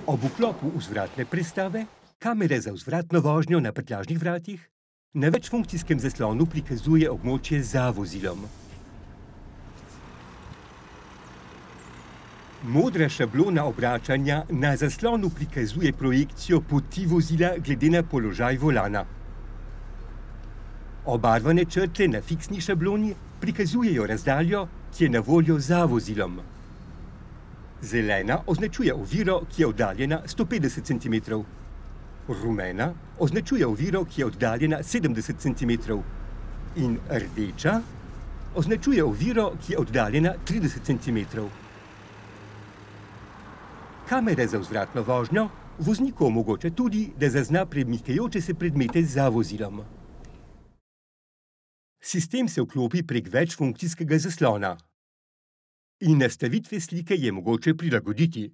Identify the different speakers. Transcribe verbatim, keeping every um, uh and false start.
Speaker 1: Ob vklopu vzvratne prestave, kamere za vzvratno vožnjo na prtljažnih vratih, na večfunkcijskem zaslonu prikazuje območje za vozilom. Modra šablona obračanja na zaslonu prikazuje projekcijo poti vozila glede na položaj volana. Obarvane črte na fiksni šabloni prikazujejo razdaljo, ki je na voljo za vozilom. Zelena označuje oviro, ki je oddaljena sto petdeset centimetrov. Rumena označuje oviro, ki je oddaljena sedemdeset centimetrov. In rdeča označuje oviro, ki je oddaljena trideset centimetrov. Kamera za vzvratno vožnjo vozniku omogoča tudi, da zazna premikajoče se predmete za vozilom. Sistem se vklopi prek večfunkcijskega zaslona. In nastavitve slike je mogoče prilagoditi.